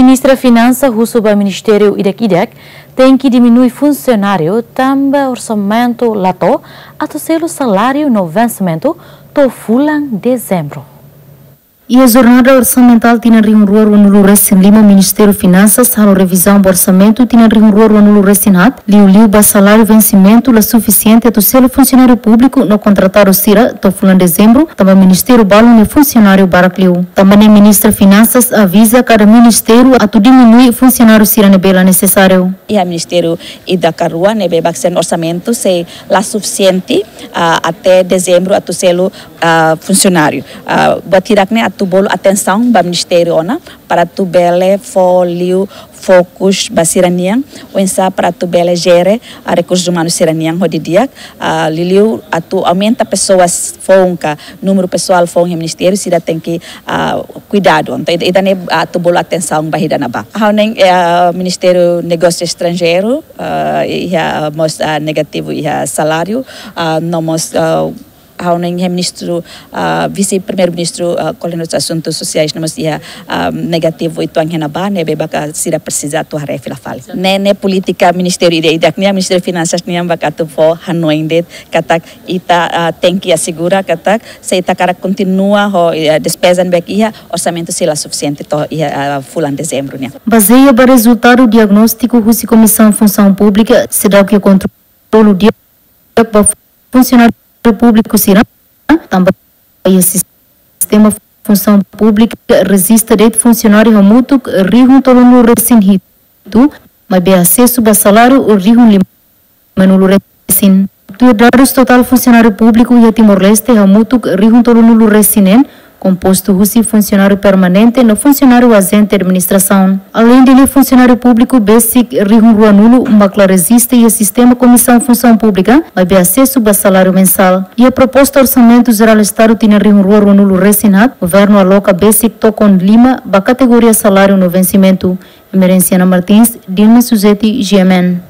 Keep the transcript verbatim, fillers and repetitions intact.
Ministra Finansa husu ba ministériu ida-idak tenke diminui funsionáriu tanba orsamentu la to'o atu selu saláriu no vensimentu to'o fulan Dezembru. Iha jornada orsamentál tinan rihun rua ruanulu resin lima, Ministériu Finansas halo revizaun ba orsamentu tinan rihun rua ruanulu resin haat, liuliu ba saláriu vensimentu la sufisiente atu selu funsionáriu públiku no kontratadu sira to'o fulan Dezembru, tanba ministériu balu nia funsionáriu barak liu. Tanba ne'e Ministra Finansas aviza kada ministériu atu diminui funsionáriu sira ne'ebé la nesesáriu. Iha ministériu ida ka rua ne'ebé bazeia orsamentu sei la sufisiente, ah, até Dezembru atu selu, ah, funsionáriu. Ah, buat hirak-ne'e atu bolu atensaun ba ministériu ona para atu bele fó liu fokus ba sira-nian, oinsá para atu bele jere, ah, rekursus umanus sira-nian ho di'ak, ah, liuliu atu aumenta pesoas foun ka númeru pesoál foun iha ministériu, sira tenke, ah, kuidadu. Entaun, ida, ida-ne'e atu bolu atensaun ba ida-ne'ebá. Ha'u hanoin, eh, Ministériu Negósiu Estranjeiru, ah, iha mós, ah, negativu iha saláriu, ah, no mós, ah, ha'u hanoin iha ministru, ah, vise-primeiru-ministru, ah, koordenadór asuntus sosiais no mós iha, ah, negativu uitoan iha ne'ebá, ne'ebé maka sira presiza atu haree fila fali. Ne'e, ne'e polítika ministériu ida-idak nian, Ministériu Finansas nian maka atu fó hanoin de'it katak ita, ah, tenke asegura katak se ita hakarak kontinua ho, eh, despeza ne'ebé iha, orsamentu sei la sufisiente to'o iha, ah, fulan Dezembru nian. Bazeia ba rezultadu diagnóstiku husi Komisaun Funsaun Públika, seidauk iha kontrolu di'ak ba funsionáriu públiku sira, tanba iha sistema funsaun públika rejista de'it funsionáriu hamutuk rihun tolunulu resin hitu, maibé asesu ba saláriu rihun limanulu resin. Tuir dadus totál funsionáriu públiku iha Timor-Leste hamutuk rihun tolunulu resin neen, kompostu husi funsionáriu permanente no funsionáriu ajente administrasaun. Aleinde ne'e funsionáriu públiku besik rihun ruanulu mak la rejista iha sistema Komisaun Funsaun Públika, maibé asesu ba saláriu mensál. Iha proposta Orsamentu Jerál Estadu tinan rihun rua ruanulu resin haat, governu aloka besik tokon lima ba kategoria saláriu no vensimentu. Emerenciana Martins, Dilma Suzeti, G M N.